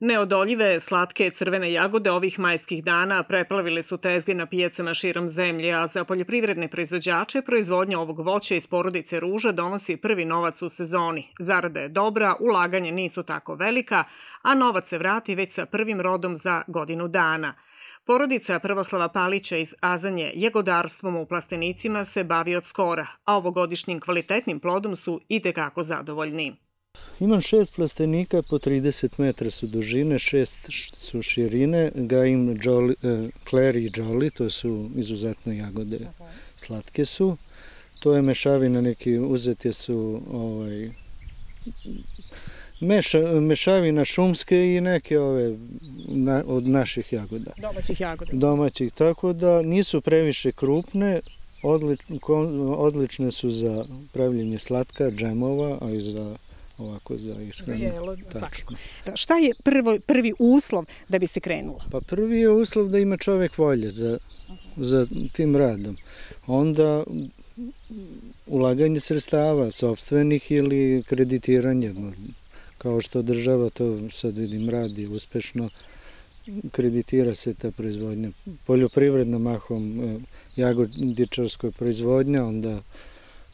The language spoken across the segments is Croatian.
Neodoljive, slatke crvene jagode ovih majskih dana preplavile su tezge na pijacama širom zemlje, a za poljoprivredne proizvođače proizvodnja ovog voća iz porodice ruža donosi prvi novac u sezoni. Zarada je dobra, ulaganje nisu tako velika, a novac se vrati već sa prvim rodom za godinu dana. Porodica Prvoslava Palića iz Azanje jagodarstvom u plastenicima se bavi od skora, a ovogodišnjim kvalitetnim plodom su itekako zadovoljni. Imam 6 plastenika, po 30 metra su dužine, 6 su širine, gajim Clary i Jolly, to su izuzetne jagode, slatke su. To je mešavina, neki uzeti su mešavina šumske i neke od naših jagoda. Domaćih jagoda. Domaćih, tako da nisu previše krupne, odlične su za pravljenje slatka, džemova, a i za ovako za ishranu. Za jelo, svakako. Šta je prvi uslov da bi se krenulo? Pa prvi je uslov da ima čovek volje za tim radom. Onda ulaganje sredstava, sopstvenih ili kreditiranje, kao što država to sad vidim radi uspešno, kreditira se ta proizvodnja. Poljoprivredna mahom jagodičarskoj proizvodnja, onda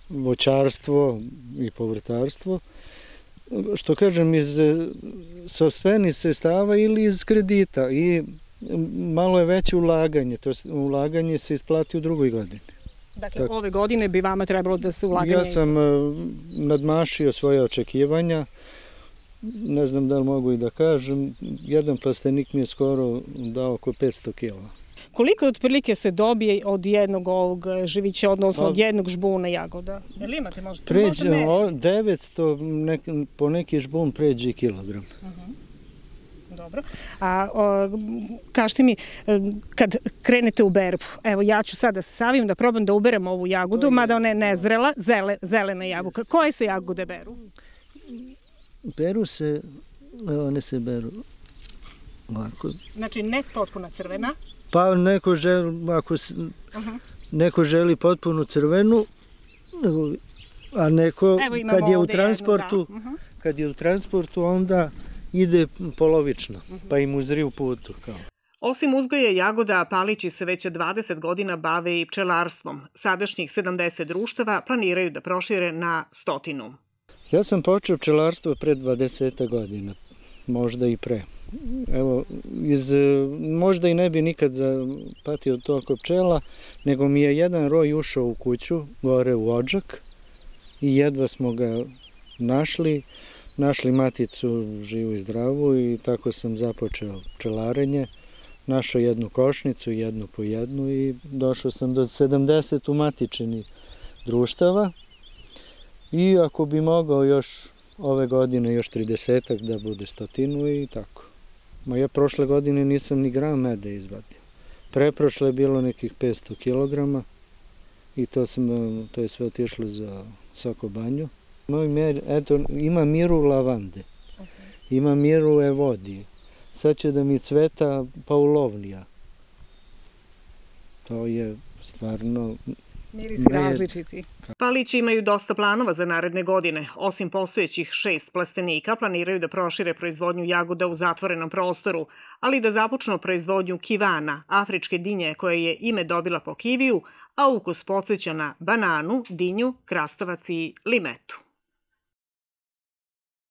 voćarstvo i povrtarstvo. Što kažem, iz sopstvenih sredstava ili iz kredita i malo je veće ulaganje, to ulaganje se isplati u drugoj godini. Dakle, ove godine bi vama trebalo da se ulaganje isplati? Ja sam nadmašio svoje očekivanja, ne znam da li mogu i da kažem, jedan plastenik mi je skoro dao oko 500 kila. Koliko otprilike se dobije od jednog ovog živića, odnosno od jednog žbuna jagoda? Jel imate možda? 900, po neki žbun pređe kilogram. Dobro. A kažite mi, kad krenete u berbu, evo ja ću sad da se savim da probam da uberem ovu jagodu, mada ona je nezrela, zelena jabuka. Koje se jagode beru? Beru se, one se beru ovako. Znači ne potpuna crvena? Pa neko želi potpuno crvenu, a neko kad je u transportu onda ide polovično, pa im uzri u putu. Osim uzgoja jagoda, Palići se već 20 godina bave i pčelarstvom. Sadašnjih 70 društava planiraju da prošire na 100. Ja sam počeo pčelarstvo pre 20 godina, možda i pre. Evo, možda i ne bi nikad zapatio toliko pčela, nego mi je jedan roj ušao u kuću, gore u Odžak, i jedva smo ga našli maticu živu i zdravu i tako sam započeo pčelarenje. Našao jednu košnicu, jednu po jednu i došao sam do 70 umatičenih društava i ako bi mogao još ove godine još 30-ak da bude 100 i tako. Ja prošle godine nisam ni gram meda izvadio. Preprošle je bilo nekih 500 kilograma i to je sve otišlo za Soko Banju. Ima miru lavande, ima miru evodije. Sad će da mi cveta paulovnija. To je stvarno... Mirisi različiti. Palići imaju dosta planova za naredne godine. Osim postojećih 6 plastenika, planiraju da prošire proizvodnju jagoda u zatvorenom prostoru, ali da započnu proizvodnju kivana, afričke dinje koja je ime dobila po kiviju, a ukus podsjeća na bananu, dinju, krastavac i limetu.